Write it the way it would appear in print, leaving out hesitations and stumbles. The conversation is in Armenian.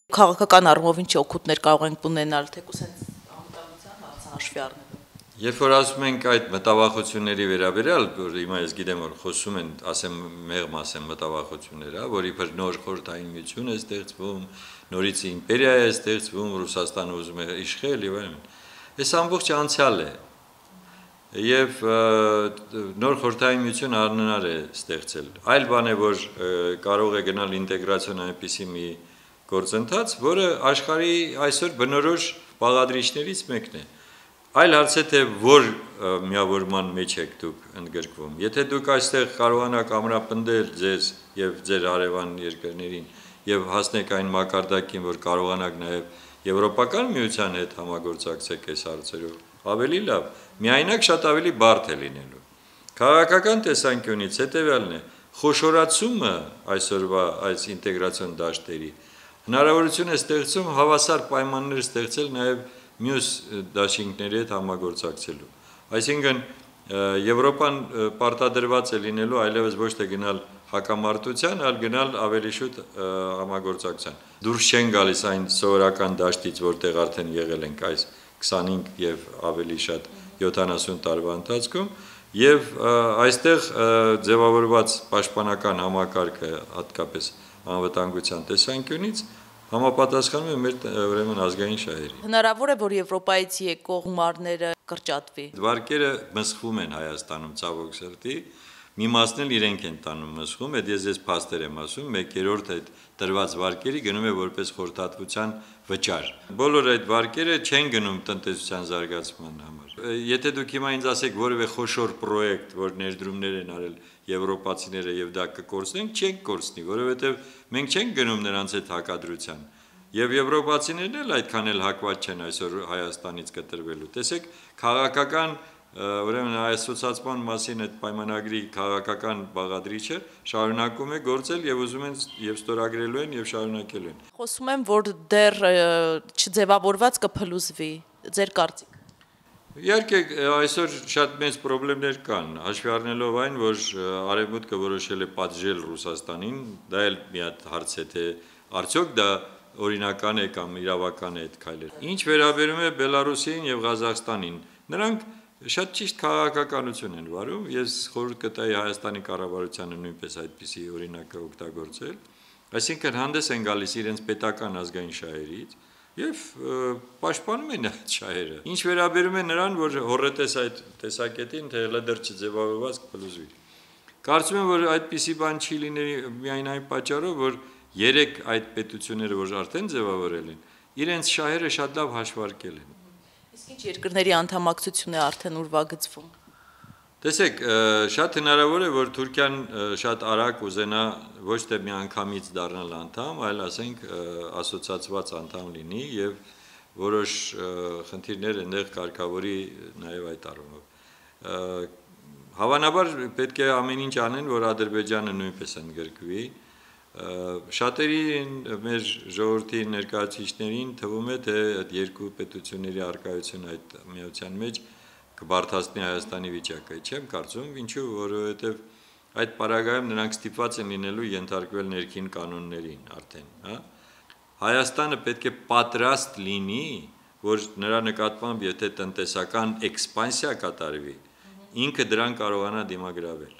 Քաղաքական առումով ինչ օգուտներ կարող ենք ունենալ, թեկուզ հենց անվտանգության հարցը հաշվի առնելով։ Երբ որ ասում ենք այդ մտավախությունների վերաբերյալ, որ հիմա ես գիտեմ, որ խոսում են, ասեմ, մեղմ ասեմ մտավախություններ, որ իբր նոր խորհրդային միություն է ստեղծվում, նորից իմպերիա է ստեղծվում, Ռուսաստանը ուզում է իշխել եւ այլն։ Այս ամբողջ անցյալ է։ Եվ նոր խորհրդային միություն անհնար է ստեղծել։ Այլ բան է, որ կարող է գնալ ինտեգրացիոն այնպիսի մի գործընթաց, որը աշխարհի այսօր բնորոշ բաղադրիչներից մեկն է։ Այլ հարց է, թե որ միավորման մեջ եք դուք ընդգրկվում։ Եթե դուք այստեղ կարողանաք ամրապնդել ձեզ եւ ձեր հարևան երկրներին եւ հասնեք այն մակարդակին, որ կարողանաք նաեւ Եվրոպական միության հետ համագործակցեք այս հարցերով, ավելի լավ, միայնակ շատ ավելի բարդ է լինելու։ Քաղաքական տեսանկյունից հետևյալն է, խոշորացումը այսօրվա այս ինտեգրացիոն դաշտերի հնարավորություն է ստեղծում հավասար պայմաններ ստեղծել նաև մյուս դաշինքների հետ համագործակցելու։ Այսինքն Եվրոպան պարտադրված է լինելու այլևս ոչ թե գնալ հակամարտության, այլ գնալ ավելի շուտ համագործակցության։ Դուրս չեն գալիս այն սովորական դաշտից, որտեղ արդեն եղել ենք այս 25 եւ ավելի շատ 70 տարվա ընթացքում, եւ այստեղ ձևավորված պաշտպանական համակարգը հատկապես անվտանգության տեսանկյունից համապատասխանում է մեր ուրեմն ազգային շահերին։ Հնարավոր է, որ Եվրոպայից եկող գումարները կրճատվի։ Վարկերը մսխվում են Հայաստանում ցավոք սրտի, մի մասն էլ իրենք են տանում մսխում, այդ ես փաստեր եմ ասում, 1/3 այդ տրված վարկերի գնում է որպես խորհրդատվության վճար։ Բոլոր այդ վարկերը չեն գնում տնտեսության զարգացման համար։ Եթե դուք հիմա ինձ ասեք որևէ խոշոր պրոյեկտ, որ ներդրումներ են արել եվրոպացիները եւ դա կկորցնենք, չենք կորցնի, որովհետեւ մենք չենք գնում նրանց հետ հակադրության։ Եվ եվրոպացիներն էլ այդքան էլ հակված չեն այսօր Հայաստանից կտրվելու։ Տեսեք, քաղաքական ուրեմն այսոցացման մասին այդ պայմանագրի քաղաքական բաղադրիչը շարունակում է գործել եւ ուզում են եւ ստորագրելու են եւ շարունակելու են։ Խոսում եմ, որ դեռ չձևավորված կփլուզվի, ձեր կարծիք։ Իհարկե այսօր շատ մեծ խնդիրներ կան, հաշվի առնելով այն, որ Արևմուտքը որոշել է պատժել Ռուսաստանին, դա էլ մի հատ հարց է, թե արդյոք դա օրինական է կամ իրավական է այդ քայլերը։ Ինչ վերաբերում է Բելարուսին եւ Ղազախստանին, նրանք շատ ճիշտ քաղաքականություն են վարում, ես խորհուրդ կտայի Հայաստանի կառավարությանը նույնպես այդպիսի օրինակը օգտագործել, այսինքն հանդես են գալիս իրենց պետական ազգային շահերից եւ պաշտպանում են այդ շահերը։ Ինչ վերաբերում է նրան, որ հորետես այդ տեսակետին, թե հələ դեռ չձևավորված կփլուզվի։ Կարծում եմ, որ այդպիսի բան չի լինի միայն այն պատճառով, որ 3 այդ պետությունները, որ արդեն ձևավորել են, իրենց շահերը շատ լավ հաշվարկել են։ Իսկ ինչ երկրների անդամակցություն է արդեն ուրվագծվում։ Տեսեք, շատ հնարավոր է, որ Թուրքիան շատ արագ ուզենա ոչ թե միանգամից դառնալ անդամ, այլ ասենք ասոցիացված անդամ լինի եւ որոշ խնդիրներ այնտեղ կարգավորի նաեւ այդ առումով։ Հավանաբար պետք է ամեն ինչ անեն, որ Ադրբեջանը նույնպես ընդգրկվի։ Շատերի մեր ժողովրդի ներկայացուցիչներին թվում է, թե այդ երկու պետությունների առկայությունը այդ միության մեջ կբարդացնի Հայաստանի վիճակը։ Չեմ կարծում, ինչու, որովհետև այդ պարագայում նրանք ստիպված են լինելու ենթարկվել ներքին կանոններին արդեն, հա։ Հայաստանը պետք է պատրաստ լինի, որ նրա նկատմամբ եթե տնտեսական էքսպանսիա կատարվի, ինքը դրան կարողանա դիմագրավել։